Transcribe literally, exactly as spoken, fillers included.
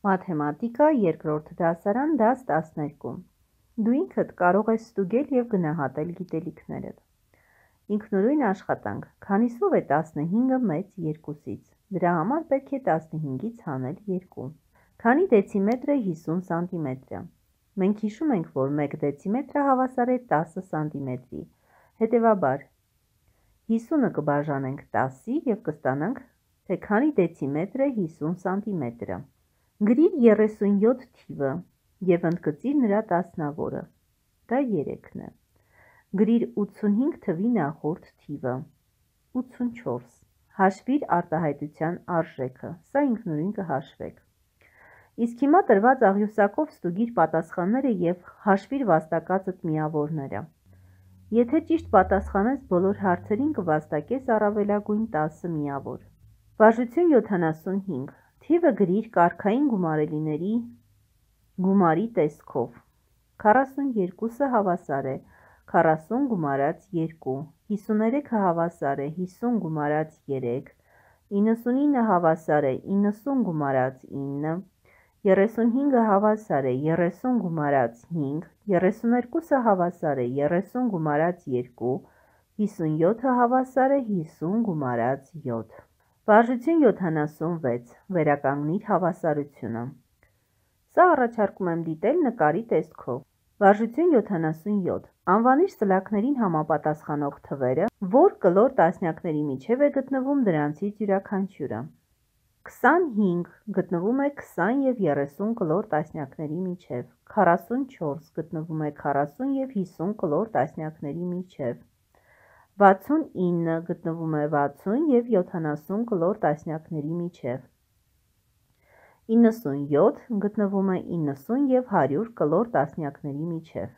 Մաթեմատիկա երկրորդ դասարան դաս տասներկու Դու ինքդ կարող ես ստուգել և գնահատել գիտելիքներդ։ Ինքնուրույն աշխատանք։ Քանիսով է տասնհինգը մեծ երկուսից։ Դրա համար պետք է տասնհինգից հանել երկու։ Քանի դեցիմետր է հիսուն սանտիմետրը։ Մենք հիշում ենք, որ մեկ դեցիմետրը հավասար է տասը սանտիմետրի։ Հետևաբար հիսունը կբաժանենք տասի և կստանանք, թե քանի դեցիմետր է հիսուն սանտիմետրը։ Գրիր երեսունյոթ թիվը և ընդգծիր նրա տասնավորը, դա երեքն է։ Գրիր ութսունհինգ թվի նախորդ թիվը, ութսունչորս, հաշվիր արտահայտության արժեքը, սա ինքնուրույն կհաշվեք։ Իսկ հիմա տրված աղյուսակով ստուգիր պատասխանները և հաշվիր վաստակածդ միավորները։ Եթե ճիշտ պատասխանես բոլոր հարցերին, կվաստակես առավելագույն տասը միավոր։ Վարժություն յոթանասունհինգ Թիվը գրիր կարգային գումարելիների գումարի տեսքով։ քառասունյերկուսը հավասար է քառասուն գումարած երկու, հիսուներեքը հավասար է հիսուն գումարած երեք, իննսունինը հավասար է իննսուն գումարած ինը, երեսունհինգը հավասար է երեսուն գումարած հինգ, երեսուներկուսը հավասար է երեսուն գումարած երկու, հիսունյոթը հավասար է հիսուն գումարած յոթ։ Վարժություն յոթանասունվեց Վերականգնիր հավասարությունը։ Սա առաջարկում եմ դիտել նկարի տեսքով։ Վարժություն յոթանասունյոթ Անվանիր սլաքներին համապատասխանող թվերը, որ կլոր տասնյակների միջև է գտնվում դրանցից յուրաքանչյուրը։ քսանհինգ գտնվում է քսան և երեսուն կլոր տասնյակների միջև, քառասունչորս գտնվում է քառասուն և հիսուն կլոր տասնյակների միջև, վաթսունինը գտնվում է վաթսուն և յոթանասուն կլոր տասնյակների միջև, իննսունյոթ գտնվում է իննսուն և հարյուր կլոր տասնյակների միջև։